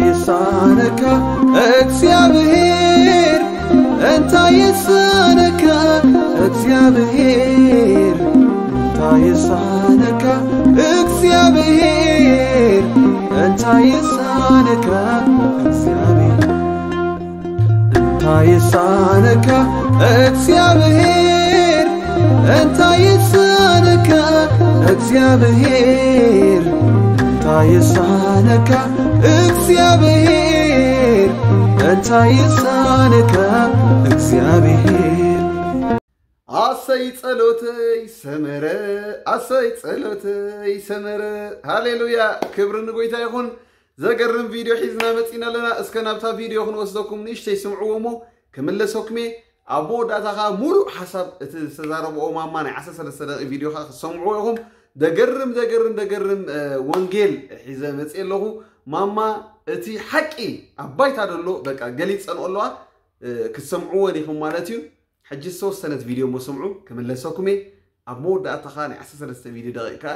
ይሳነካ እግዚኣብሔር፣ እንታይ ይሳነካ እግዚኣብሔር፣ እንታይ ይሳነካ እግዚኣብሔር፣ እንታይ ይሳነካ እግዚኣብሔር፣ እንታይ ይሳነካ እግዚኣብሔር፣ እንታይ ይሳነካ እግዚኣብሔር፣ እንታይ ይሳነካ እግዚኣብሔር፣ እንታይ ይሳነካ እግዚኣብሔር። ኣሰይ ጸሎተይ ሰመረ፣ ኣሰይ ጸሎተይ ሰመረ። ሃሌሉያ፣ ክብሪ ንጎይታ ይኹን። ዘገርም ቪድዮ ሒዝና መጺና ኣለና። እስከ ናብታ ቪድዮ ክንወስደኩም ንእሽተይ ስምዕዎ እሞ ክምለሰኩም እየ። ኣብ መወዳእታ ኸኣ ሙሉእ ሓሳብ እቲ ዝተዛረብኦ ማማ ናይ ዓሰርተ ሰለስተ ደቂቕ ቪድዮ ኸኣ ክትሰምዕዎ ኢኹም። ደገርም፣ ደገርም፣ ደገርም፣ እ፣ ወንጌል ሒዘ መጽእ ኣለኹ። ማማ እቲ ሓቂ ኣብ ባይታ ደሎ በቃ ገሊጸንኦ ኣለዋ። እ፣ ክትሰምዕወን ኢኹም ማለት እዩ። ሕጂ ዝተወሰነት ቪድዮ እሞ ስምዑ፣ ክምለሰኩም እየ። ኣብ መወዳእታ ኸኣ ናይ ዓሰርተ ሰለስተ ቪድዮ ደቂቕ ከኣ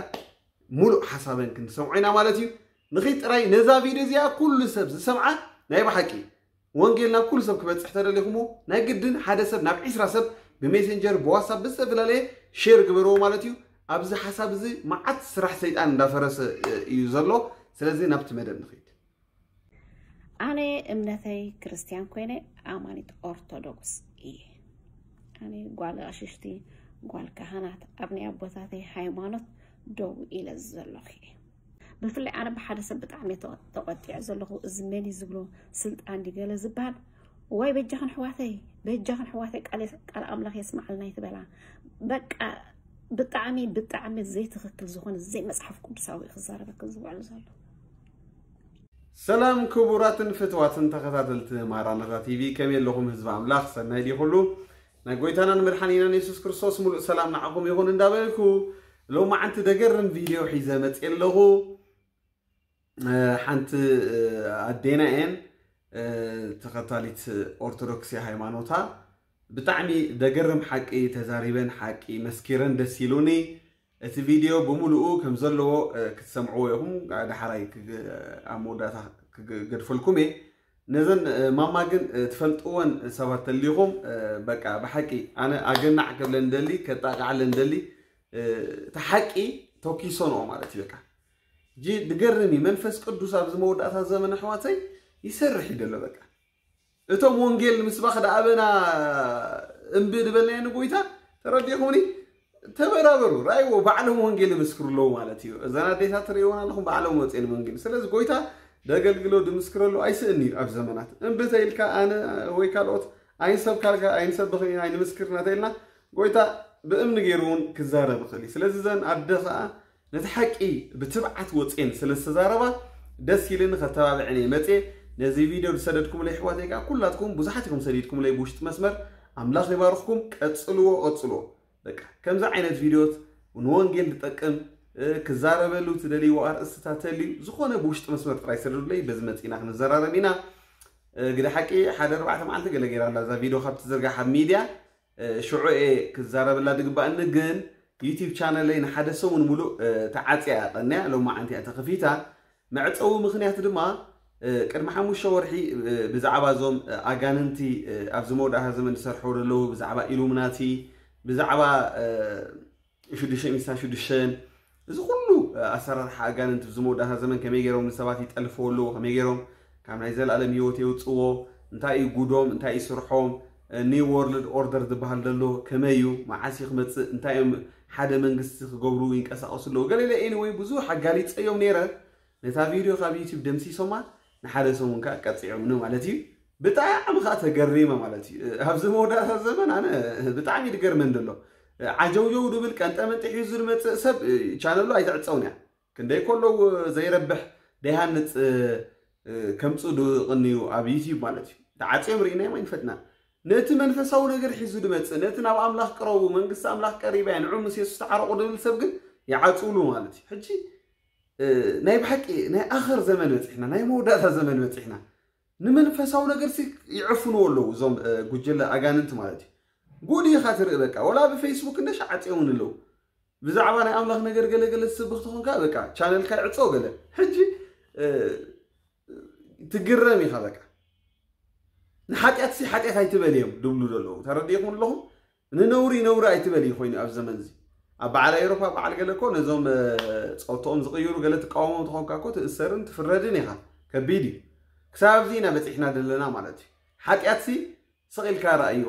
ሙሉእ ሓሳበን ክንሰምዖ ኢና ማለት እዩ። ንኺድ ጥራይ ነዛ ቪድዮ እዚኣ ኩሉ ሰብ ዝሰምዓ ናይ ብሓቂ ወንጌል ናብ ኩሉ ሰብ ክበጽሕ ተደሊኹሞ ናይ ግድን ሓደ ሰብ ናብ ዒስራ ሰብ ብሜሴንጀር ብዋትሳፕ ብዝተፈላለየ ሼር ግበርዎ ማለት እዩ። ኣብዚ ሓሳብ እዚ መዓት ስራሕ ሰይጣን እንዳፈረሰ እዩ ዘሎ። ስለዚ ናብቲ መደብ ንኺድ። ኣነ እምነተይ ክርስትያን ኮይነ ኣማኒት ኦርቶዶክስ እየ። ኣነ ጓል ኣሽሽቲ ጓል ካህናት ኣብ ናይ ኣቦታተይ ሃይማኖት ደው ኢለ ዘለኹ እየ። ብፍላይ ኣነ ብሓደ ሰብ ብጣዕሚ እየ ተቐ- ተቐጢዐ ዘለኹ። እዚ መን እዩ ዝብሎ ስልጣን ድዩ ገለ ዝበሃል ወይ በጃኽን ኣሕዋተይ በጃኽን ኣሕዋተይ ቃል ቃል ኣምላኽ የስምዓልና ይትበላ። በቃ ብጣዕሚ ብጣዕሚ ዘይትኽክል ዝኾነ ዘይመጽሓፍ ቅዱሳዊ እዩ ክዛረበክን ዝውዕል ዘሎ። ሰላም ክቡራትን ፍትዋትን ተኸታተልቲ ማራናታ ቲቪ፣ ከመይ ኣለኹም ህዝቢ ኣምላኽ? ሰናይ ድዩ ኩሉ? ናይ ጎይታናን መድሓኒናን የሱስ ክርስቶስ ሙሉእ ሰላም ንዓኹም ይኹን እንዳበልኩ፣ ሎማዓንቲ ደገርም ቪድዮ ሒዘ መፅእ ኣለኹ። እ፣ ሓንቲ፣ እ፣ ኣዴና እየን፣ እ፣ ተኸታሊት ኦርቶዶክስ ሃይማኖታ፣ ብጣዕሚ ደገርም ሓቂ ተዛሪበን፣ ሓቂ መስኪረን፣ ደስ ኢሉኒ። እቲ ቪድዮ ብምሉኡ ከም ዘለዎ፣ እ፣ ክትሰምዕዎ ኢኹም። ዳሕራይ ክግ- ኣብ መወዳእታ ክገድፈልኩም እየ። ነዘን፣ እ፣ ማማ ግን፣ እ፣ ትፈልጥወን ሰባት ተሊኹም፣ እ፣ በቃ ብሓቂ ኣነ ኣገናዕ ክብለን ደሊ፣ ከጣቃዕለን ደሊ፣ እ፣ እቲ ሓቂ ተኪሶንኦ ማለት እዩ። በቃ እጂ ድገርም እዩ። መንፈስ ቅዱስ ኣብዚ መወዳእታ ዘመን ኣሕዋተይ ይሰርሕ እዩ ደሎ። በቃ እቶም ወንጌል ምስባኽ ደኣ ኣበና እምቢ ዝበልናዮ ንጎይታ ተረዲኹምኒ? ተበራበሩ፣ ራእይዎ፣ ባዕሎም ወንጌል ይምስክሩ ኣለዉ ማለት እዩ። እዘን ኣዴታት ትርእይወን ኣለኹም፣ ባዕሎም ወፅኤን ወንጌል። ስለዚ ጎይታ ደገልግሎ ድምስክረሉ ኣይስእን እዩ። ኣብ ዘመናት እምቢ ተይልካ ኣነ ወይ ካልኦት ኣይንሰብካልካ ኣይንሰብኽን ኢና ኣይንምስክርና ተይልና ጎይታ ብእምኒ ገይሩ እውን ክዛረብ ይኽእል እዩ። ስለዚ እዘን ኣደ ኸዓ ነቲ ሓቂ ብትብዓት ወፅኤን ስለ ዝተዛረባ ደስ ኢልኒ፣ ከተባብዐን እየ መፅየ። ነዚ ቪድዮ ዝሰደድኩምለይ ኣሕዋተይ ከዓ ኩላትኩም ብዙሓት ኢኹም ሰዲድኩምለይ ብውሽጢ መስመር። ኣምላኽ ይባርኽኩም፣ ቀፅልዎ፣ ቀፅልዎ። በቃ ከምዚ ዓይነት ቪድዮት ንወንጌል ዝጠቅም፣ እ፣ ክዛረበሉ ትደልይዎ ኣርእስትታት ተልዩ ዝኾነ ብውሽጢ መስመር ጥራይ ሰደዱለይ፣ በዚ መፂና ክንዘራረብ ኢና። እ፣ ግደ ሓቂ ሓደ ኣርባዕተ መዓልቲ ገለ ገይራ ኣላ እዛ ቪድዮ ካብ ትዝርጋሕ ኣብ ሚድያ። እ፣ ሽዑ እየ ክዛረበላ ዝግባእኒ፣ ግን ዩቲዩብ ቻነለይ ንሓደ ሰሙን ሙሉእ፣ እ፣ ተዓፅያ እያ ቀንያ፣ ሎማዓንቲ እያ ተኸፊታ። መዕፀዊ ምኽንያት ድማ፣ እ፣ ቅድሚ ሓሙሽተ ወርሒ፣ እ፣ ብዛዕባ እዞም፣ እ፣ ኣጋንንቲ፣ እ፣ ኣብዚ መወዳእታ ዘመን ዝሰርሕዎ ዘለዉ፣ ብዛዕባ ኢሉምናቲ፣ ብዛዕባ፣ እ፣ ሽዱሽተ ሚስታ ሽዱሽተን፣ እዚ ኩሉ፣ እ፣ ኣሰራርሓ ኣጋንንቲ ኣብዚ መወዳእታ ዘመን ከመይ ገይሮም ንሰባት ይጠልፍዎ ኣለዉ፣ ከመይ ገይሮም ካብ ናይ ዘለኣለም ህይወት የውፅዎ፣ እንታይ እዩ ጉዶም፣ እንታይ እዩ ስርሖም፣ እ፣ ኒው ወርልድ ኦርደር ዝበሃል ዘሎ ከመይ እዩ፣ መዓስ እዩ ክመፅእ፣ እንታይ እዮም ሓደ መንግስቲ ክገብሩ ይንቀሳቐሱ ኣለዉ፣ ገለለ። ኤኒወይ ብዙሕ ኣጋሊፀዮም ነይረ። ነታ ቪድዮ ካብ ዩቲዩብ ደምሲሶማ፣ ንሓደ ሰሙን ከዓ ቀፂዖምኒ ማለት እዩ። ብጣዕሚ ከዓ ተገሪመ ማለት እዩ። ኣብዚ መወዳእታ ዘመን ኣነ ብጣዕሚ ይድገርመን ዘሎ። ዓጀውጀው ድብል ቀንጠመንጢ ሒዙ ዝመፅእ ሰብ ቻነሉ ኣይትዕፀውን እያ። ክንደይ ከለዉ ዘይረብሕ ደይሃንፅ ከምፅኡ ድቕንዩ ኣብ ዩቲዩብ ማለት እዩ። ተዓፅዮም ርኢናዮም ኣይንፈጥና። ነቲ መንፈሳዊ ነገር ሒዙ ድመፅእ፣ ነቲ ናብ ኣምላኽ ቅረቡ፣ መንግስቲ ኣምላኽ ቀሪባ እያ፣ ንዑ ምስ የሱስ ተዓረቑ ድብል ሰብ ግን ይዓፅውሉ ማለት እዩ። ሕጂ እ፣ ናይ ብሓቂ ናይ ኣኸር ዘመን በፂሕና፣ ናይ መወዳእታ ዘመን በፂሕና። ንመንፈሳዊ ነገርሲ ይዕፍንዎ ኣለዉ እዞም፣ እ፣ ጉጅለ ኣጋንንቲ ማለት እዩ። ጉድ ኢኻ ትርኢ በቃ፣ ወላ ብፌስቡክ እንደሽ ዓፅዮምን ኣለዉ። ብዛዕባ ናይ ኣምላኽ ነገር ገለ ገለ ትስብኽ ተኾንካ በቃ ቻነልካ ይዕፀው ገለ። ሕጂ፣ እ፣ ትግረም ኢኻ። በቃ ንሓጢኣትሲ ሓጢኣት ኣይትበል እዮም ድብሉ ዘለዉ። ተረዲእኩም ኣለኹም? ንነውሪ ነውሪ ኣይትበል እዩ ኮይኑ ኣብ ዘመን እዚ። ኣብ በዓል ኤውሮፓ በዓል ገለ እኮ ነዞም እ፣ ፆቶኦም ዝቕይሩ ገለ ትቃወሞም ተኾንካ እኮ ትእሰርን ትፍረድን ኢኻ። ከቢድ እዩ። ክሳብ ኣብዚ ኢና በፂሕና ዘለና ማለት እዩ። ሓጢኣትሲ ስቕ ኢልካ ረኣዮ።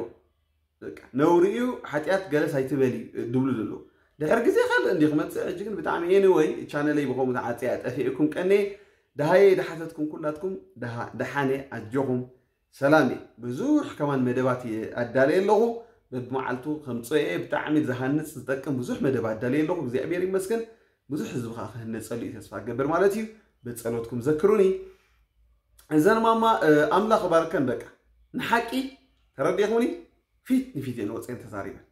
በቃ ነውሪ እዩ፣ ሓጢኣት ገለስ ኣይትበል እዩ ድብሉ ዘለዉ። ድሕር ግዜ ካልእ እንዲ ክመፅእ ሕጂ ግን ብጣዕሚ፣ ኤኒወይ ቻነለይ ብኸምኡ ተዓፅያ ጠፊእኩም ቀኔ። ደሃየ ደሓተትኩም ኩላትኩም ደሃ- ደሓነ ኣጆኹም። ሰላም እየ። ብዙሕ ከማን መደባት እየ ኣዳለየ ኣለኹ። በብመዓልቱ ከምፅኦ እየ። ብጣዕሚ ዝሃንፅ ዝጠቅም ብዙሕ መደብ ኣዳለየ ኣለኹ። እግዚኣብሔር ይመስገን። ብዙሕ ህዝቢ ከዓ ክህነፀሉ እዩ ተስፋ ገብር ማለት እዩ። በፀሎትኩም ዘክሩኒ። እዘን ማማ እ፣ ኣምላኽ ባርከን። በቃ ንሓቂ ተረዲኹኒ። ፊት ንፊት እየን ወፅየን ተዛሪበን።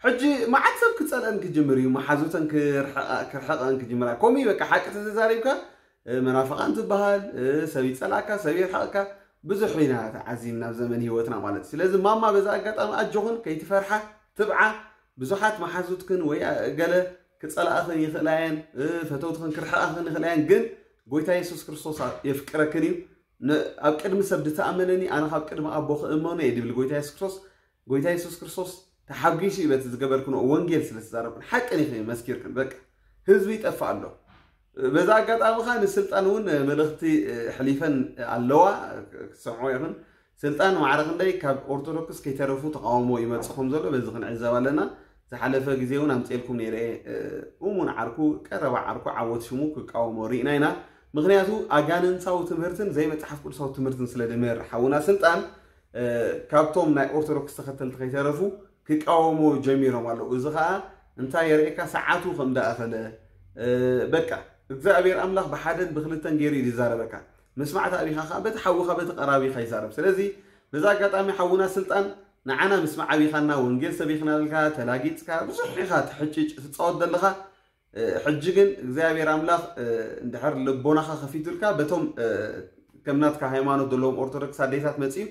ሕጂ መዓት ሰብ ክፀልአን ክጅምር እዩ። መሓዙተን ክርሕቐ- ክርሕቐን ክጅምራ። ከምኡ እዩ በቃ ሓቂ ተተዛሪብካ እ፣ መናፍቓን ትበሃል እ፣ ሰብ ይፀላእካ ሰብ ይርሕቐካ። ብዙሕ ኢና ተዓዚምና ኣብ ዘመን ህይወትና ማለት እዩ። ስለዚ ማማ በዛ ኣጋጣሚ ኣጆኽን ከይትፈርሓ ትብዓ። ብዙሓት መሓዙትክን ወይ እ፣ ገለ ክፀላእኽን ይኽእላ እየን እ፣ ፈተውትኽን ክርሕቓኽን ይኽእላ እየን። ግን ጎይታ የሱስ ክርስቶስ የፍቅረክን እዩ። ን- ኣብ ቅድሚ ሰብ ድተኣመነኒ ኣነ ካብ ቅድሚ ኣቦ ክእመኖ እየ ድብል ጎይታ የሱስ ክርስቶስ። ጎይታ የሱስ ክርስቶስ ተሓጒሱ እዩ በቲ ዝገበርክንኦ ወንጌል ስለ ዝዛረብክን ሓቂ ኒኺ መስኪርክን። በቃ ህዝቢ ይጠፍእ ኣሎ። በዛ ኣጋጣሚ ኸ ንስልጣን እውን መልእኽቲ ሕሊፈን ኣለዋ። ክሰምዖ ይኹን። ስልጣን ማዕረ ክንደይ ካብ ኦርቶዶክስ ከይተረፉ ተቃውሞ ይመጽእ ከም ዘሎ በዚ ክንዕዘብ ኣለና። ዝሓለፈ ግዜ እውን ኣምፅኤልኩም ነይረ እየ። እሙን ዓርኩ ቀረባ ዓርኩ ዓወት ሽሙ ክቃወሞ ርኢና ኢና። ምክንያቱ ኣጋንንታዊ ትምህርትን ዘይመፅሓፍ ቅዱሳዊ ትምህርትን ስለ ድምህር ሓውና ስልጣን ካብቶም ናይ ኦርቶዶክስ ተኸተልቲ ከይተረፉ ክቃወሞ ጀሚሮም ኣለዉ። እዚ ከዓ እንታይ የርእየካ? ሰዓቱ ከም ደኣኸለ። በቃ እግዚኣብሔር ኣምላኽ ብሓደን ብክልተን ገይሩ እዩ ዝዛረበካ። ምስማዕ ተኣቢኻ ከዓ በቲ ሓውኻ በቲ ቀራቢኻ ይዛረብ። ስለዚ በዛ ኣጋጣሚ ሓውና ስልጣን ንዓና ምስማዕ ኣቢኻና፣ ወንጌል ሰቢኽናልካ፣ ተላጊፅካ፣ ብዙሕ ኢኻ ትሕጭጭ ትፃወት ዘለኻ። ሕጂ ግን እግዚኣብሔር ኣምላኽ እንድሕር ልቦናኻ ከፊቱልካ በቶም ከም ናትካ ሃይማኖት ዘለዎም ኦርቶዶክስ ኣዴታት መፅዩ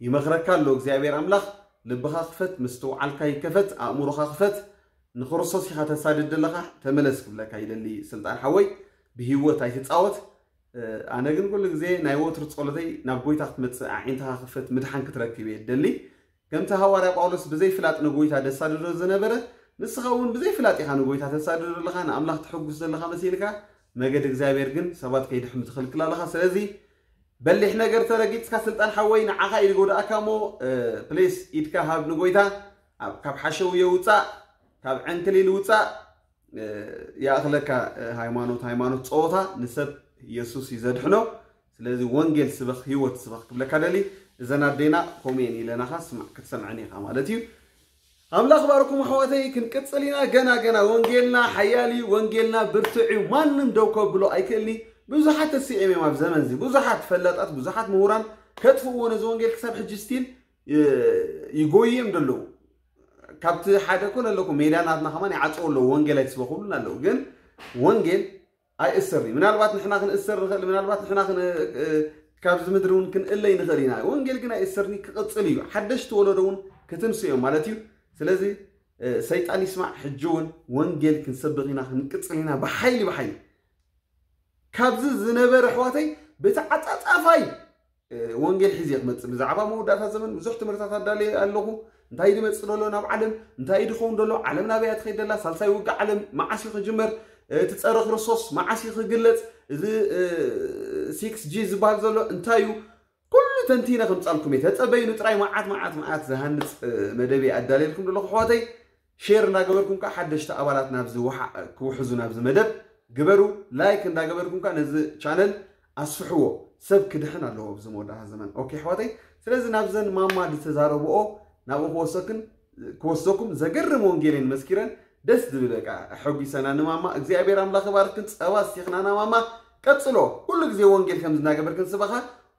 ይመኽረካ ኣሎ። እግዚኣብሔር ኣምላኽ ልብኻ ክፈት፣ ምስትውዓልካ ይከፈት፣ ኣእምሮኻ ክፈት። ንክርስቶስ ኢኻ ተሳድድ ዘለኻ፣ ተመለስ ክብለካ ይደሊ ስልጣን ሓወይ። ብህይወት ኣይትፃወት። ኣነ ግን ኩሉ ግዜ ናይ ወትሩ ጸሎተይ ናብ ጎይታ ክትመጽእ፣ ኣዒንትኻ ክፈት፣ ምድሓን ክትረክብ እየ ደሊ። ከምቲ ሃዋርያ ጳውሎስ ብዘይፍላጥ ንጎይታ ደሳድዶ ዝነበረ፣ ንስኻ እውን ብዘይፍላጥ ኢኻ ንጎይታ ተሳድዶ ዘለኻ፣ ንኣምላኽ ትሕጉስ ዘለኻ መሲልካ፣ መገድ እግዚኣብሔር ግን ሰባት ከይድሕኑ ትኽልክል ኣለኻ። ስለዚ በሊሕ ነገር ተረጊጽካ ስልጣን ሓወይ ንዓኻ ኢሉ ጎዳእካ እሞ፣ ፕሊስ ኢድካ ሃብ ንጎይታ፣ ኣብ- ካብ ሓሸውየ ውጻእ፣ ካብ ዕንክሊል ውጻእ። ይኣኽለካ። ሃይማኖት ሃይማኖት ጸወታ፣ ንሰብ ኢየሱስ እዩ ዘድሕኖ። ስለዚ ወንጌል ስበኽ፣ ህይወት ስበኽ ክብለካ ደሊ። እዘን ኣዴና ከምኡ እየን ኢለናኻ፣ ስማዕ ክትሰምዐን ኢኻ ማለት እዩ። ኣምላኽ ባርኩም ኣሕዋተይ። ክንቅጽል ኢና። ገና ገና ወንጌልና ሓያል እዩ። ወንጌልና ብርቱዕ እዩ። ማንም ደው ከብሎ ኣይክእልኒ። ብዙሓት ተሲኦም እዮም ኣብ ዘመን እዚ፣ ብዙሓት ፈላጣት፣ ብዙሓት ምሁራን ከጥፍእዎ ነዚ ወንጌል። ክሳብ ሕጂ ስቲል ይጎይም ዘለዉ። ካብቲ ሓደ ኮነ ኣለኩ ሜዳ ናትና ከማን ይዓፀው ኣለዉ። ወንጌል ኣይትስበኹሉን ኣለዉ። ግን ወንጌል ኣይእሰር እዩ። ምናልባት ንሕና ክንእሰር ንኽእል፣ ምናልባት ንሕና ክን- እ፣ ካብዚ ምድሪ እውን ክንእለይ ንኽእል ኢና። ወንጌል ግን ኣይእሰርን እዩ፣ ክቕፅል እዩ። ሓደሽቲ ወለዶ እውን ክትንሱ እዮም ማለት እዩ። ስለዚ እ፣ ሰይጣን ይስማዕ። ሕጂ እውን ወንጌል ክንሰብኽ ኢና፣ ክንቅፅል ኢና ብሓይሊ ብሓይሊ። ካብዚ ዝነበረ ኣሕዋተይ ብተዓፃፃፋይ ወንጌል ሒዘ ክመፅእ። ብዛዕባ መወዳእታ ዘመን ብዙሕ ትምህርታት ኣዳለየ ኣለኹ። እንታይ ድመፅእ ዘሎ ናብ ዓለም፣ እንታይ ድኸውን ዘሎ፣ ዓለም ናበይ ትኸይድ ደላ፣ ሳልሳይ ውግእ ዓለም መዓስ እዩ ክጅመር፣ እቲ ፀረ ክርስቶስ መዓስ እዩ ክግለፅ፣ እዚ ሲክስ ጂ ዝበሃል ዘሎ እንታይ እዩ፣ ኩሉ ተንቲነ ከምፃልኩም እየ። ተፀበይኑ ጥራይ። መዓት መዓት መዓት ዝሃንፅ መደብ ኣዳለየልኩም ዘለኹ ኣሕዋተይ። ሼር እንዳገበርኩም ከዓ ሓደሽቲ ኣባላት ናብዚ ውሓ- ክውሕዙ ናብዚ መደብ ግበሩ። ላይክ እንዳገበርኩም ከዓ ነዚ ቻነል ኣስፍሕዎ። ሰብ ክድሕን ኣለዎ ኣብዚ መወዳእታ ዘመን። ኦኬ ኣሕዋተይ፣ ስለዚ ናብዘን ማማ ዝተዛረብኦ ናብኡ ክወሰክን ክወስደኩም። ዘገርም ወንጌልን መስኪረን ደስ ዝብል በቃ ኣሐጒሰና ንማማ። እግዚኣብሔር ኣምላኽ ይባርክን። ጸባ ስቲኽናና ማማ፣ ቀጽሎ። ኩሉ ግዜ ወንጌል ከም ዝናገበርክን ስበኻ።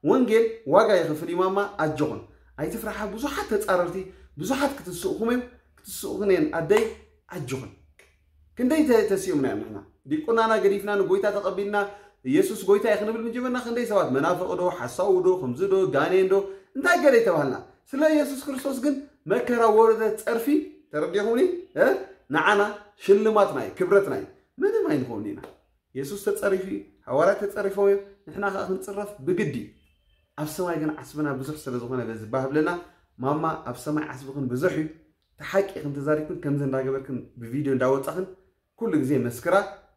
ወንጌል ዋጋ ይኸፍል እዩ ማማ፣ ኣጆኹን ኣይትፍርሓ። ብዙሓት ተጻረርቲ ብዙሓት ክትስእኹም እዮም፣ ክትስእኹን እየን ኣደይ፣ ኣጆኹን። ክንደይ ተ- ተሲኡምና እዮም ንሕና ዲቁናና ገዲፍና ንጎይታ ተቐቢልና ኢየሱስ ጎይታ እዩ ክንብል ምጅምርና ክንደይ ሰባት መናፍቕ ዶ ሓሳዊ ዶ ከምዚ ዶ ጋኔን ዶ እንታይ ገለ ይተባህልና። ስለ ኢየሱስ ክርስቶስ ግን መከራ ወረደ ጸርፊ ተረዲኹምኒ እ? ንዓና ሽልማትና እዩ ክብረትና እዩ። ምንም ኣይንኸውን ኢና። የሱስ ተጸሪፉ እዩ። ኣዋላት ተጸሪፎም እዮም። ንሕና ከዓ ክንጽረፍ ብግዲ እዩ። ኣብ ሰማይ ግን ዓስብና ብዙሕ ስለ ዝኾነ በዚ ባህብለና ማማ ኣብ ሰማይ ዓስብኽን ብዙሕ እዩ። ተሓቂ ክንተዛሪብክን ከምዚ እንዳገበርክን ብቪድዮ እንዳወጻኽን ኩሉ ግዜ መስክራ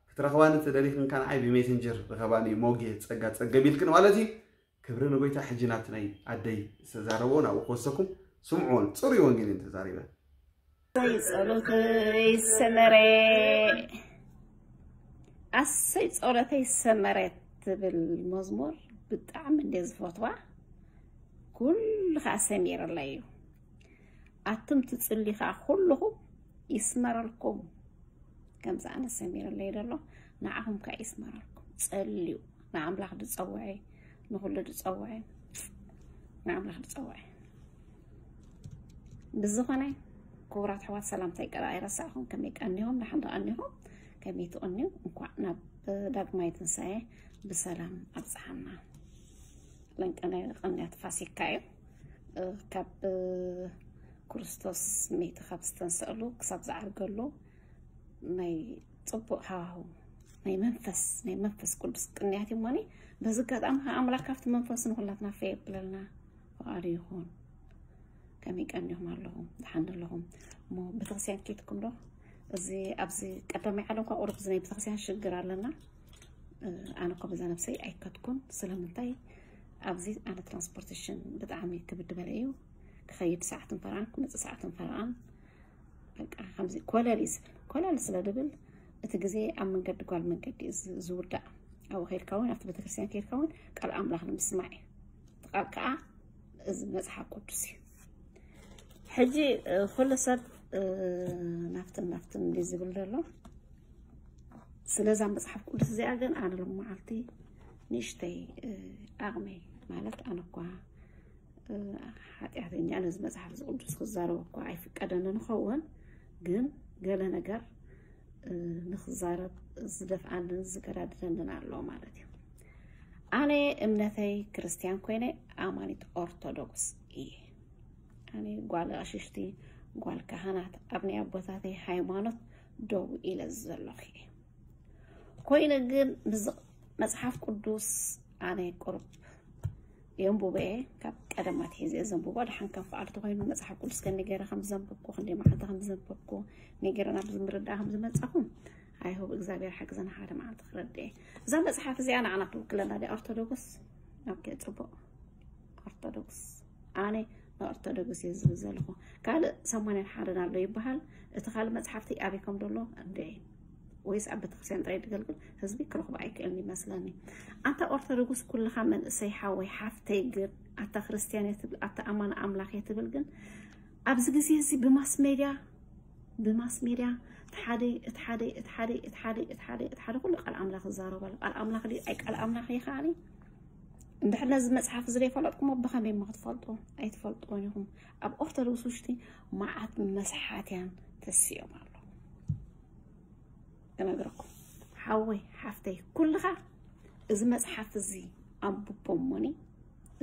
ክትረኽባኒ ተደሊኽን ከንዓይ ብሜሴንጀር ርኸባኒ ሞጌ ጸጋ ጸገብ ኢልክን ማለት እዩ። ክብሪ ንጎይታ። ሕጂ ናብቲ ናይ ኣደይ ዝተዛረቦ ናብኡ ክወሰኩም ስምዕዎን ጽሩይ ወንጌልን ተዛሪበ። ኣሰይ ጸሎተይ ሰመረ ኣሰይ ጸሎተይ ሰመረ ትብል መዝሙር ብጣዕሚ እንደ ዝፈትዋ ኩሉ ከዓ ሰሚረላ እዩ። ኣቱም ትጽሊ ከዓ ኩልኹም ይስመረልኩም። ከምዚ ኣነ ሰሚረለይ ደሎ ንዓኹም ከዓ ይስመረልኩም። ጸልዩ ንኣምላኽ ዝጸውዐ ንኹሉ ዝጸውዐ ንኣምላኽ ዝጸውዐ ብዝኾነ ክቡራት ኣሕዋት ሰላምታይ ቀዳ ኣይረሳዕኹም። ከመይ ቀኒኹም? ደሓን ዶ ቀኒኹም? ከመይ ትቕንዩ? እንኳዕ ናብ ዳግማይ ትንሳኤ ብሰላም ኣብጽሓና። ለንቀናይ ቀንያት ፋሲካ እዩ። ካብ ክርስቶስ መይቱ ካብ ዝተንሰእሉ ክሳብ ዝዓርገሉ ናይ ጽቡቕ ሃዋህው ናይ መንፈስ ናይ መንፈስ ቅዱስ ቅንያት እዩ እሞኒ። በዚ ኣጋጣሚ ከዓ ኣምላኽ ካብቲ መንፈስ ንኹላትና ፈይ የብለልና ፍቓዱ ይኹን። ከመይ ቀኒኹም ኣለኹም? ደሓን ኣለኹም? እሞ ቤተክርስትያን ኬድኩም ዶ? እዚ ኣብዚ ቀዳማይ ዓለም እኳ ቁሩብ እዚ ናይ ቤተክርስትያን ሽግር ኣለና። ኣነ እኳ በዛ ነብሰይ ኣይከድኩን። ስለምንታይ ኣብዚ ኣነ ትራንስፖርቴሽን ብጣዕሚ ክብድ በለ እዩ። ክኸይድ ሰዓትን ፈረቓን ክመፅእ ሰዓትን ፈረቓን በቃ ከምዚ ኮለል እዩ ዝብል። ኮለል ስለ ድብል እቲ ግዜ ኣብ መንገዲ ጓል መንገዲ እዩ ዝ- ዝውዳእ። ኣብኡ ከይድካ እውን ኣብቲ ቤተክርስትያን ከይድካ እውን ቃል ኣምላኽ ንምስማዕ እዩ። እቲ ቃል ከዓ እዚ መፅሓፍ ቅዱስ እዩ። ሕጂ እ፣ ኩሉ ሰብ እ፣ ናብትን ናብትን እንዲ ዝብል ዘሎ ስለዛ መፅሓፍ ቅዱስ እዚኣ ግን ኣነ ሎም መዓልቲ ንእሽተይ እ፣ ዓቕመይ ማለት ኣነ እኳ እ፣ ሓጢኣተኛ ነዚ መፅሓፍ እዚ ቅዱስ ክዛረብ እኳ ኣይፍቀደኒ ንኸውን፣ ግን ገለ ነገር እ፣ ንክዛረብ ዝደፍኣንን ዝገዳድደንን ኣሎ ማለት እዩ። ኣነ እምነተይ ክርስትያን ኮይነ ኣማኒት ኦርቶዶክስ እየ። ኣነ ጓል ኣሽሽቲ ጓል ካህናት ኣብ ናይ ኣቦታተይ ሃይማኖት ደው ኢለ ዘለኹ እየ። ኮይኑ ግን ምስ መጽሓፍ ቅዱስ ኣነ ቁሩብ የንብቦ እየ። ካብ ቀደም ኣትሒዘ እየ ዘንብቦ። ደሓን ከም ፍቓዱ ተኾይኑ መጽሓፍ ቅዱስ ከመይ ገይረ ከም ዘንበብኩ፣ ክንደይ መዓልቲ ከም ዘንበብኩ፣ ከመይ ገይረ ናብዚ ምርዳእ ከም ዝመጻኹ፣ ኣይሆብ እግዚኣብሔር ሓግዘና ሓደ መዓልቲ ክረድእ እየ። እዛ መጽሓፍ እዚኣ ንዓና ትውክለና ድያ? ኦርቶዶክስ። ኦኬ፣ ጽቡቕ። ኦርቶዶክስ። ኣነ ንኦርቶዶክስ እየ ዝብል ዘለኹ። ካልእ ሰማንያን ሓደን ኣሎ ይበሃል። እቲ ካልእ መጽሓፍቲ ኣበይ ከም ዘሎ እንደ ወይስ ኣብ ቤተክርስትያን ጥራይ ዝገልግል ህዝቢ ክረኽቦ ኣይክእልን ይመስለኒ። ኣንታ ኦርቶዶክስ ኩልኻ መንእሰይ ሓወይ ሓፍተይ ግን ኣታ ክርስትያን እየ ትብል ኣታ ኣማን ኣምላኽ እየ ትብል ግን ኣብዚ ግዜ እዚ ብማስ ሜድያ ብማስ ሜድያ እቲ ሓደ እቲ ሓደ እቲ ሓደ እቲ ሓደ እቲ ሓደ እቲ ሓደ እቲ ሓደ ኩሉ ቃል ኣምላኽ ይዛረብ ኣሎ። ቃል ኣምላኽ ድዩ ኣይ ቃል ኣምላኽ ይኸኣል እዩ። እንድሕር ነዚ መጽሓፍ እዚ ዘይፈለጥኩሞ ብኸመይ እሞ ክትፈልጡ? ኣይትፈልጥዎን ኢኹም። ኣብ ኦርቶዶክስ ውሽጢ መዓት መስሓትያን ተሲኦም ኣለዉ። ክነግረኩም ሓወይ ሓፍተይ ኩልኻ እዚ መጽሓፍ እዚ ኣንብቦ እሞኒ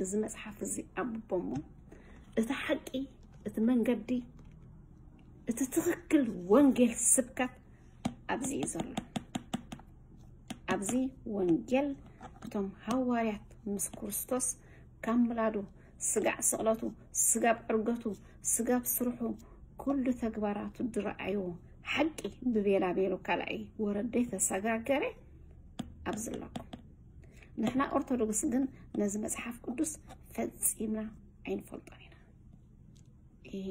እዚ መጽሓፍ እዚ ኣንብቦ እሞ እቲ ሓቂ እቲ መንገዲ እቲ ትኽክል ወንጌል ስብከት ኣብዚ እዩ ዘሎ። ኣብዚ ወንጌል እቶም ሃዋርያት ምስ ክርስቶስ ካብ ምላዱ ስጋዕ ስቕለቱ ስጋብ ዕርገቱ ስጋብ ስርሑ ኩሉ ተግባራቱ ዝረኣይዎ ሓቂ ብቤላ ቤሎ ካልኣይ ወረደ ተሰጋገረ ኣብዚ ኣለኩም። ንሕና ኦርቶዶክስ ግን ነዚ መጽሓፍ ቅዱስ ፈጺምና ኣይንፈልጦን ኢና። ይሄ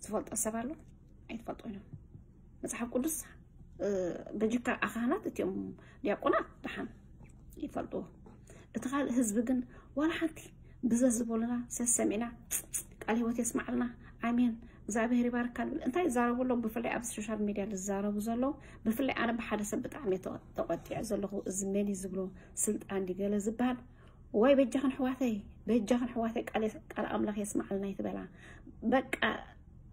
ዝፈልጦ ሰብ ኣሎ ኣይትፈልጦ እዮም። መጽሓፍ ቅዱስ እ፣ በጅካ ኣኻህናት እቲኦም ዲያቆናት ደሓን ይፈልጥዎ። እቲ ካልእ ህዝቢ ግን ዋላ ሓንቲ ብዘ ዝበሉና ሰሰሚዕና ቃል ህይወት የስማዕልና ኣሜን እግዚኣብሔር ይባርካ ንብል። እንታይ ይዛረቡ ኣለዉ? ብፍላይ ኣብዚ ሶሻል ሚድያ ዝዛረቡ ዘለዉ ብፍላይ ኣነ ብሓደ ሰብ ብጣዕሚ እየ ተቆ- ተቆጢዐ ዘለኹ። እዚ መን እዩ ዝብሎ ስልጣን ድዩ ገለ ዝበሃል ወይ በጃኽን ኣሕዋተይ በጃኽን ኣሕዋተይ ቃል የስ- ቃል ኣምላኽ የስማዓልና ይትበላ። በቃ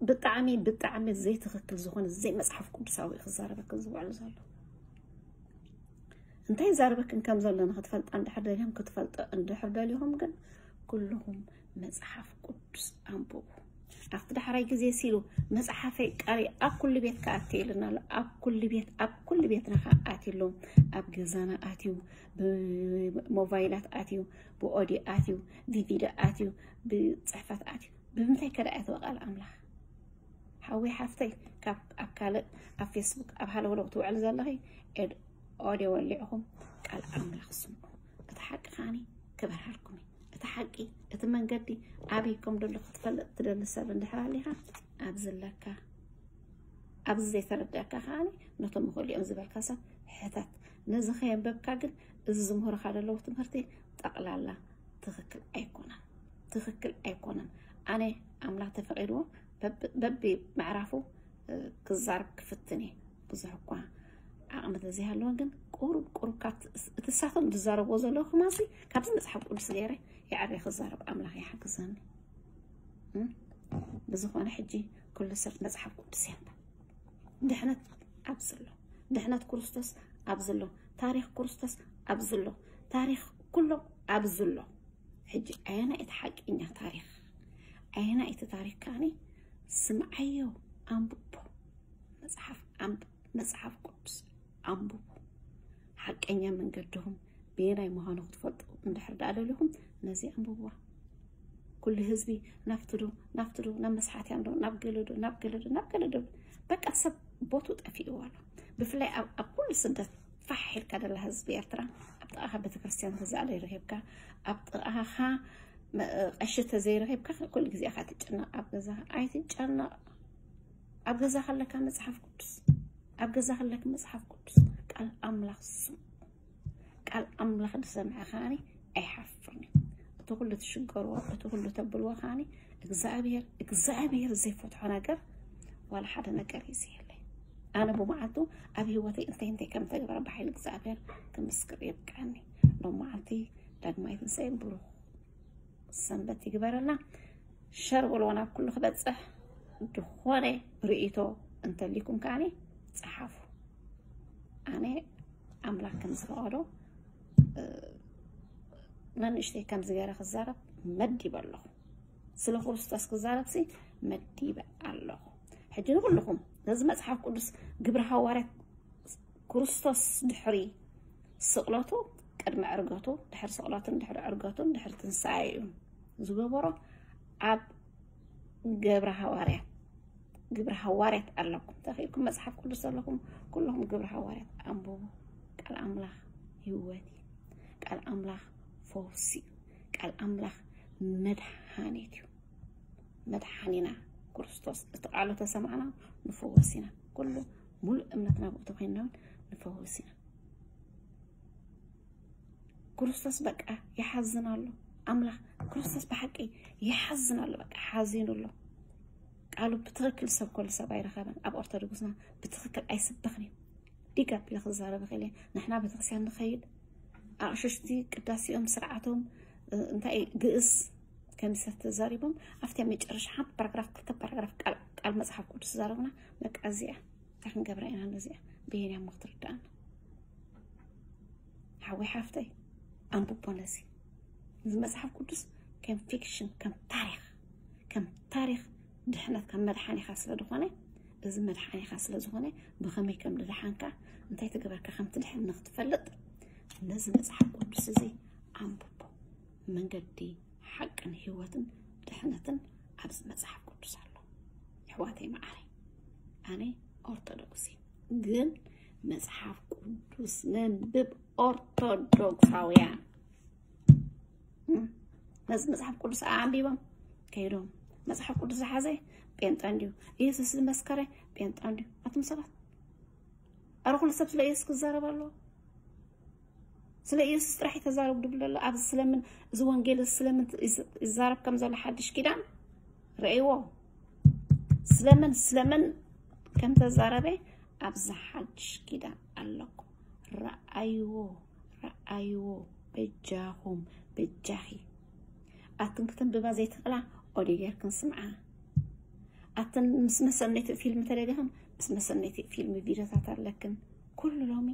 ብጣዕሚ ብጣዕሚ ዘይትኽክል ዝኾነ ዘይመፅሓፍ ቅዱሳዊ እዩ ክዛረበክን ዝውዕል ዘሎ። እንታይ ይዛረበክን ከም ዘሎ ንክትፈልጣ እንድሕር ደሊኹም ክትፈልጡ እንድሕር ደሊኹም ግን ኩልኹም መፅሓፍ ቅዱስ ኣንብቡ። ኣብቲ ዳሕራይ ግዜ ሲሉ መጽሓፈይ ቃለይ ኣብ ኩሉ ቤት ከኣቲ ኢልና ኣሎ። ኣብ ኩሉ ቤት ኣብ ኩሉ ቤትና ከኣቲ ኣሎ። ኣብ ገዛና ኣትዩ፣ ብሞባይላት ኣትዩ፣ ብኦዲዮ ኣትዩ፣ ብቪድዮ ኣትዩ፣ ብጽሕፈት ኣትዩ። ብምንታይ ከዳ ኣትወ ቃል ኣምላኽ? ሓወይ ሓፍተይ፣ ካብ ኣብ ካልእ ኣብ ፌስቡክ ኣብ ሃለውለው ትውዕል ዘለኺ፣ ኤድ ኦድዮ ወሊዕኹም ቃል ኣምላኽ ስምዑ። እቲ ሓቂ ከዓኒ ክበርሃልኩም እዩ። እቲ ሓቂ፣ እቲ መንገዲ ኣበይ ከም ደሎ ክትፈልጥ ትደሊ ሰብ እንድሕር ኣሊኻ፣ ኣብዚ ኣለካ። ኣብዚ ዘይተረዳእካ ከዓኒ ነቶም ይኽእሉ እዮም ዝበልካ ሰብ ሕተት። ነዚ ከየንበብካ ግን እዚ ዝምህሩኻ ዘለዉ ትምህርቲ ጠቕላላ ትኽክል ኣይኮነን። ትኽክል ኣይኮነን። ኣነ ኣምላኽ ተፈቒድዎ በቢ ምዕራፉ ክዛረብ ክፍትን እየ። ብዙሕ እኳ ዓቕሚ ተዘይሃለወን ግን ቁሩብ ቁሩብ ካብ እቲ ሳቶም ዝዛረብዎ ዘለዉ ክማሲ ካብዚ መፅሓፍ ቅዱስ ገይረ ይዕረ ክዛረብ ኣምላኽ ይሓግዘኒ። ብዝኾነ ሕጂ ኩሉ ሰብ መፅሓፍ ቅዱስ የንብብ። ድሕነት ኣብዚ ኣሎ። ድሕነት ክርስቶስ ኣብዚ ኣሎ። ታሪኽ ክርስቶስ ኣብዚ ኣሎ። ታሪኽ ኩሎም ኣብዚ ኣሎ። ሕጂ ኣየና እቲ ሓቀኛ ታሪኽ? ኣየና እቲ ታሪኽ ከዓኒ ስምዓዮ፣ ኣንብቦ። መጽሓፍ ኣንብ መጽሓፍ ቅዱስ ኣንብቡ። ሓቀኛ መንገድኹም ብየናይ ምዃኑ ክትፈልጡ እንድሕር ደኣ ደሊኹም ነዚ ኣንብብዋ። ኩሉ ህዝቢ ናፍቲ ዶ ናፍቲ ዶ ናብ መስሓትያን ዶ ናብ ገለ ዶ ናብ ገለ ዶ ናብ ገለ ዶ በቃ ሰብ ቦቱ ጠፊእዎ ኣሎ። ብፍላይ ኣብ ኣብ ኩሉ ስደት ፋሕ ኢልካ ደላ ህዝቢ ኤርትራ ኣብ ጥቓኻ ቤተክርስትያን ተዘይረኺብካ ኣብ ጥቓኻ ቀሺ ተዘይረኺብካ ኩሉ ግዜ ኢኻ ትጨነቕ። ኣብ ገዛ ኣይትጨነቕ። ኣብ ገዛ ከለካ መጽሓፍ ቅዱስ ኣብ ገዛ ከለክ መጽሓፍ ቅዱስ ቃል ኣምላኽ ስም ቃል ኣምላኽ ዝሰምዐ ከዓኒ ኣይሓፍርን እዩ። እቲ ኩሉ ትሽገርዎ እቲ ኩሉ ተብልዎ ከዓኒ እግዚኣብሔር እግዚኣብሔር ዘይፈትሖ ነገር ዋላ ሓደ ነገር እዩ ዘየለ። ኣነ ብመዓልቱ ኣብ ህይወተይ እንታይ እንታይ ከም ተግበረ ብሓይሊ እግዚኣብሔር ክምስክር የብቅዐኒ። ሎም መዓልቲ ዳግማይ ትንሳኤ ብሩኽ ሰንበት ይግበረልና። ሸር በልዎ ናብ ኩሉ ክበፅሕ። ዝኾነ ርእይቶ እንተሊኩም ከዓኒ ፀሓፉ። ኣነ ኣምላኽ ከም ዝፈቐዶ ነንእሽተይ ከም ዝገረ ክዛረብ መዲበ ኣለኹ። ስለ ክርስቶስ ክዛረብ ሲ መዲበ ኣለኹ። ሕጂ ንኩልኹም ነዚ መፅሓፍ ቅዱስ ግብሪ ሃዋርያት ክርስቶስ ድሕሪ ስቕለቱ ቅድሚ ዕርገቱ ድሕሪ ስቕለቱን ድሕሪ ዕርገቱን ድሕሪ ትንሳኤ እዩ ዝገበሮ። ኣብ ገብረ ሃዋርያት ግብሪ ሃዋርያት ኣለኩም ተኽኢልኩም መፅሓፍ ቅዱስ ዘለኹም ኩልኹም ግብሪ ሃዋርያት ኣንብቡ። ቃል ኣምላኽ ህይወት እዩ። ቃል ኣምላኽ ፈውሲ እዩ። ቃል ኣምላኽ መድሓኒት እዩ። መድሓኒና ክርስቶስ እቲ ቃሉ ተሰማዕና ንፈወስ ኢና። ኩሉ ሙሉእ እምነትና ብኡ ተኮይንና እውን ንፈወስ ኢና። ክርስቶስ በቃ ይሓዝን ኣሎ። ኣምላኽ ክርስቶስ ብሓቂ ይሓዝን ኣሎ። በቃ ሓዚኑ ኣሎ። ቃሉ ብትኽክል ዝሰብከሉ ሰብ ኣይረኸበን። ኣብ ኦርቶዶክስና ብትኽክል ኣይስበኽን እዩ። ዲግ ኣቢለ ክዛረብ እኽእል እየ። ንሕና ቤተክርስትያን ንኸይድ ኣቕሽሽቲ ቅዳሴኦም ስርዓቶም እንታይ ግእዝ ከሚሰ ተዛሪቦም ኣብቲ መጨረሻ ሓንቲ ፓራግራፍ ክልተ ፓራግራፍ ቃል መፅሓፍ ቅዱስ ዛረብና። በቃ እዚኣ እንታይ ክንገብራ ኢና? ነዚኣ ብየንያ እሞ ክትርዳእና ሓወይ ሓፍተይ ኣንብቦ ነዚ እዚ መፅሓፍ ቅዱስ ከም ፊክሽን ከም ታሪክ ከም ታሪክ ድሕነት ከም መድሓኒኻ ስለ ዝኾነ እዚ መድሓኒኻ ስለ ዝኾነ ብኸመይ ከም ድድሓንካ እንታይ ተገበርካ ከም ትድሕን ንክትፈልጥ ነዚ መፅሓፍ ቅዱስ እዚ ኣንብቦ። መንገዲ ሓቅን ህይወትን ድሕነትን ኣብዚ መፅሓፍ ቅዱስ ኣሎ። ኣሕዋተይ መዓረይ ኣነ ኦርቶዶክስ ግን መፅሓፍ ቅዱስ ነንብብ ኦርቶዶክሳውያን ነዚ መፅሓፍ ቅዱስ ኣንቢቦም ከይዶም መፅሓፍ ቅዱስ ዝሓዘ ጴንጠ እንድዩ ኢየሱስ ዝመስከረ ጴንጠ እንድዩ ኣቱም ሰባት ኣረ ኩሉ ሰብ ስለ ኢየሱስ ክዛረብ ኣለዎ ስለ ኢየሱስ ጥራሕ ተዛረብ ድብል ኣሎ ኣብዚ ስለምን እዚ ወንጌል ስለምን ይዛረብ ከም ዘሎ ሓድሽ ኪዳን ረእይዎ ስለምን ስለምን ከም ተዛረበ ኣብዚ ሓድሽ ኪዳን ኣለኩ ረኣይዎ ረኣይዎ በጃኹም በጃኺ ኣትን ክትንብባ ዘይትኽእላ ኦዲዮ ጌርክን ስምዓ ኣትን ምስ መሰነይቲ ፊልም ተደገኽን ምስ መሰነይቲ ፊልም ቪድዮታት ኣለክን ኩሉ ሎሚ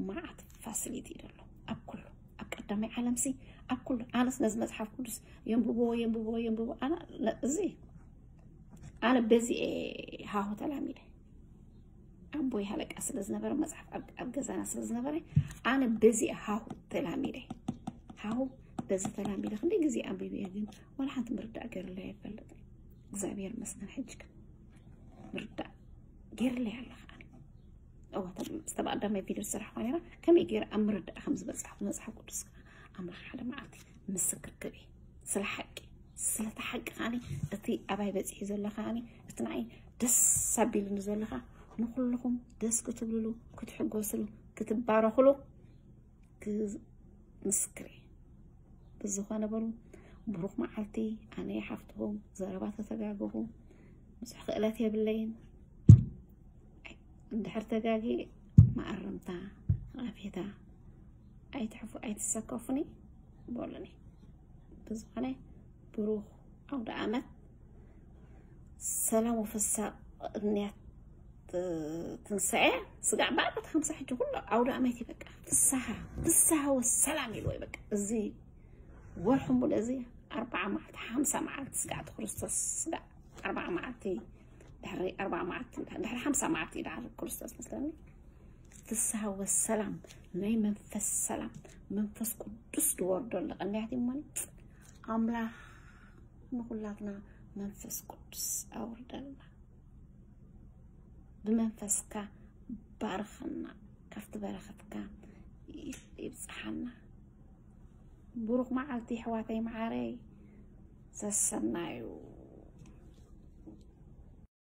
መዓት ፋሲሊቲ እዩ ዘሎ ኣብ ኩሉ ኣብ ቀዳማይ ዓለም ሲ ኣብ ኩሉ ኣነስ ነዚ መፅሓፍ ቅዱስ የንብብዎ የንብብዎ የንብብዎ ኣነ እዚ ኣነ በዚ እየ ሃሁ ተላሚደ። ኣቦይ ሃለቃ ስለ ዝነበረ፣ መፅሓፍ ኣብ ገዛና ስለ ዝነበረ፣ ኣነ በዚ እየ ሃሁ ተላሚደ። ሃሁ በዚ ተላሚደ። ክንደይ ግዜ ኣንቢበ እየ፣ ግን ዋላ ሓንቲ ምርዳእ ገይርለይ ኣይፈልጥን። እግዚኣብሔር ይመስገን፣ ሕጂ ግን ምርዳእ ገይርለይ ኣለኻ። ዝተባኣዳማይ ቪድዮ ዝሰራሕኳ ነራ፣ ከመይ ገይረ ኣብ ምርዳእ ከም ዝበፅሓ መፅሓፍ ቅዱስ ከዓ ኣምላኽ ሓደ መዓልቲ ምስክር ክብ ስለ ሓቂ፣ ስለቲ ሓቂ ከዓኒ፣ እቲ ኣባይ በፂሑ ዘሎ ከዓኒ፣ እቲ ንዓይ ደስ ኣቢሉኒ ዘሎ ከዓ፣ ንኩልኹም ደስ ክትብልሉ፣ ክትሕጎስሉ፣ ክትባረኹሉ ምስክር እየ። ብዝኾነ በሉ፣ ብሩኽ መዓልቲ። ኣነ ሓፍትኹም ዘረባ ተተጋገኹ፣ ብዙሕ ክእለት የብለይን። እንድሕር ተጋጊ መኣረምታ፣ ቐፌታ ኣይትሕፉ፣ ኣይትሰከፉኒ በሉኒ። ብዝኾነ ብሩኽ ኣውደ ኣመት፣ ሰላም ወፍሳ፣ ቅንያት ትንሳኤ። ስጋዕ በኣርባዕተ ሓምሳ ሕጂ ኩሉ ኣውደ ኣመት እዩ። በቃ ፍስሃ፣ ፍስሃ ወሰላም ኢልዎ እዩ። በቃ እዚ ወርሒ ሙሉ እዚ ኣርባዓ መዓልቲ፣ ሓምሳ መዓልቲ ስጋዕ እቲ ክርስቶስ፣ ስጋዕ ኣርባዓ መዓልቲ፣ ድሕሪ ኣርባዓ መዓልቲ፣ ድሕሪ ሓምሳ መዓልቲ እዩ ደሓር ክርስቶስ መስለኒ። ፍስሃ ወሰላም፣ ናይ መንፈስ ሰላም፣ መንፈስ ቅዱስ ዝወርደሉ ቅንያት እዩ እሞኒ። ኣምላኽ ንኹላትና መንፈስ ቅዱስ ኣውርደልና። ብመንፈስካ ባርኸና፣ ካብቲ በረኸትካ ይብጽሓና። ብሩኽ መዓልቲ ኣሕዋተይ መዓረይ፣ ሰሰናዩ።